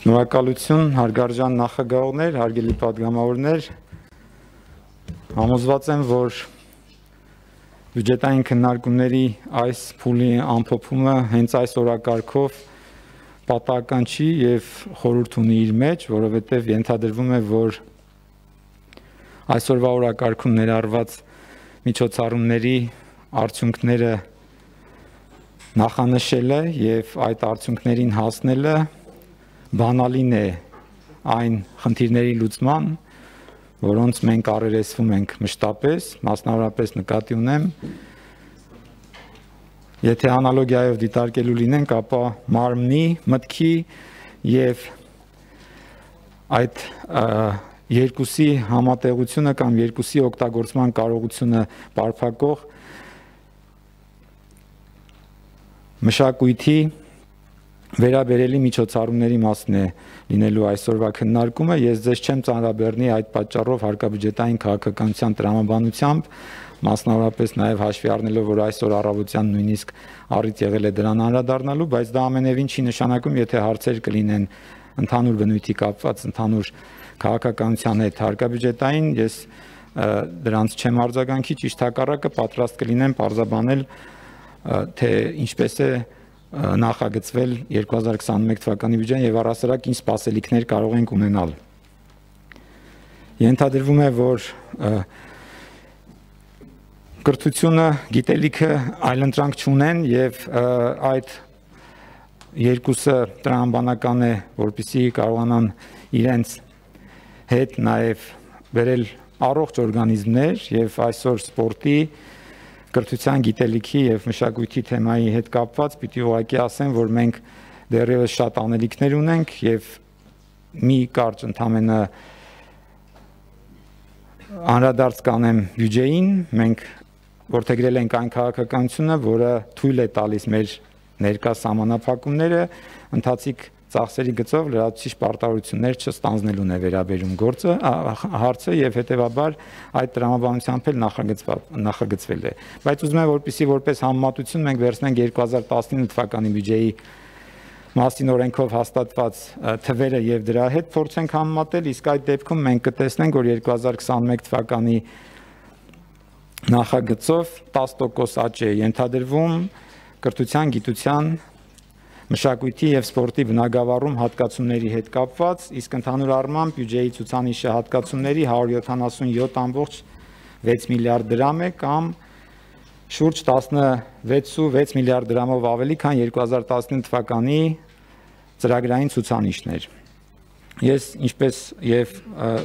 Շնորհակալություն, հարգարժան նախագահողներ, հարգելի պատգամավորներ, համոզված եմ, որ բյուջետային քննարկումների այս փուլի ամփոփումը հենց այս օրակարգով պատահական չի եւ խորհուրդ ունի իր մեջ, որովհետեւ ենթադրվում է, որ այսօրվա օրակարգում ներառված միջոցառումների արդյունքները նախանշելը եւ այդ արդյունքներին հասնելը բանալին է այն խնդիրների լուծման, որոնց մենք առերեսվում ենք մշտապես, մասնավորապես նկատի ունեմ, եթե անալոգիայով դիտարկելու լինենք, ապա մարմնի, մտքի եւ այդ երկուսի համատեղությունը կամ երկուսի օգտագործման կարողությունը բարփակող մշակույթի վերաբերելի միջոցառումների մասն է լինելու այսօրվա քննարկումը, ես ձեզ չեմ ծանրաբեռնի այդ պատճառով հարկաբյուջետային քաղաքականության տրամաբանությամբ, մասնավորապես նաև հաշվի առնելով, որ այսօր առավոտյան նույնիսկ առիթ եղել է դրան անդրադառնալու, բայց դա ամենևին չի նշանակում, եթե հարցեր կլինեն ընդհանուր բնույթի կապված ընդհանուր քաղաքականության հետ հարկաբյուջետային, ես դրանց չեմ արձագանքի, ճիշտ հակառակը պատրաստ կլինեմ պարզաբանել, թե ինչպես է նախագծվել 2021 թվականի բյուջեն եւ առհասարակ ինչ սպասելիքներ կարող ենք ունենալ։ Ենթադրվում է, որ կրթությունը, գիտելիքը այլընտրանք չունեն եւ այդ երկուսը տրամաբանական է, որպեսզի կարողանան իրենց հետ նաեւ բերել առողջ օրգանիզմներ եւ այսօր սպորտի կրթության գիտելիքի եւ մշակույթի թեմայի հետ կապված պիտի ուղղակի ասեմ, որ մենք դեռևս շատ անելիքներ ունենք եւ մի կարճ ընդամենը անդրադարձ կանեմ բյուջեին, մենք որդեգրել ենք այն քաղաքականությունը, որը թույլ է տալիս մեր ներկա սահմանափակումները ընթացիկ ծախսերի գծով լրացուցիչ պարտավորություններ չստանձնելուն է վերաբերում հարցը եւ հետեւաբար այդ տրամաբանությամբ էլ նախագծվել է։ Բայց ուզում եմ, որպեսզի որպես համեմատություն մենք վերցնենք 2019 թվականի բյուջեի մասին օրենքով հաստատված թվերը եւ դրա հետ փորձենք համեմատել, իսկ այդ դեպքում մենք կտեսնենք, որ 2021 թվականի նախագծով 10% աճ է ենթադրվում կրթության, գիտության, մշակույթի եւ սպորտի բնագավառում հատկացումների հետ կապված, իսկ ընդհանուր առմամբ բյուջեի ցուցանիշը հատկացումների 177.6 միլիարդ դրամ է կամ շուրջ 16.6 միլիարդ դրամով ավելի, քան 2019 թվականի ծրագրային ցուցանիշներ։ Ես ինչպես եւ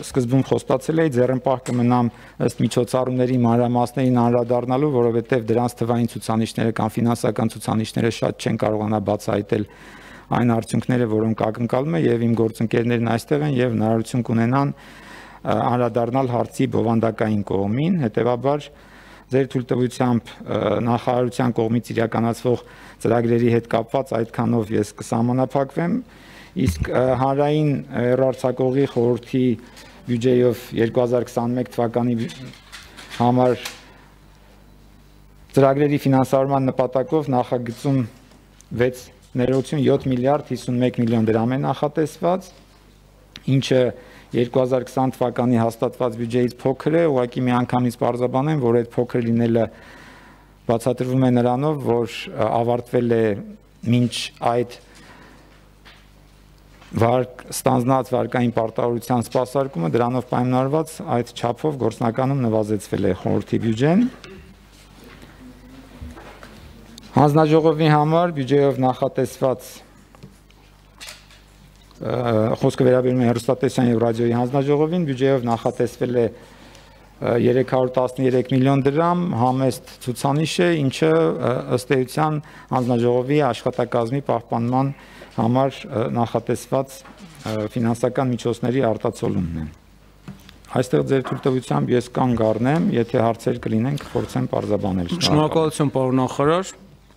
սկզբում խոստացել էի, ձեռնպահ կմնամ ըստ միջոցառումների մանրամասներին անդրադառնալու, որովհետեւ դրանց թվային ցուցանիշները կամ ֆինանսական ցուցանիշները շատ չեն կարողանա բացահայտել այն արդյունքները, որոնք ակնկալում է եւ իմ գործընկերներն այստեղ են եւ հնարավորություն կունենան անդրադառնալ հարցի բովանդակային կողմին, հետեւաբար ձեր թույլտվությամբ նախարարության կողմից իրականացվող ծրագրերի հետ կապված այդքանով ես կսահմանափակվեմ, իսկ հանրային հեռարձակողի խորհրդի բյուջեով 2021 թվականի համար ծրագրերի ֆինանսավորման նպատակով նախագծում 7 միլիարդ 51 միլիոն դրամ է նախատեսված, ինչը 2020 թվականի հաստատված բյուջեից փոքր է, ուղղակի միանգամից պարզաբանեմ, որ այդ փոքր լինելը բացատրվում է նրանով, որ ավարտվել է մինչ այդ ստանձնած վարկային պարտավորության սպասարկումը, դրանով պայմանավորված այդ չափով գործնականում նվազեցվել է խորհրդի բյուջեն։ Հանձնաժողովի համար բյուջեով նախատեսված խոսքը վերաբերում է հեռուստատեսության եւ ռադիոյի հանձնաժողովին, բյուջեով նախատեսվել է 313 միլիոն դրամ, համեստ ցուցանիշ է, ինչը ըստ էության հանձնաժողովի աշխատակազմի պահպանման համար նախատեսված ֆինանսական միջոցների արտացոլումն է։ Այստեղ ձեր թույլտվությամբ ես կանգ առնեմ, եթե հարցեր կլինեն, կփորձեմ պարզաբանել։ Շնորհակալություն, պարոն նախարար։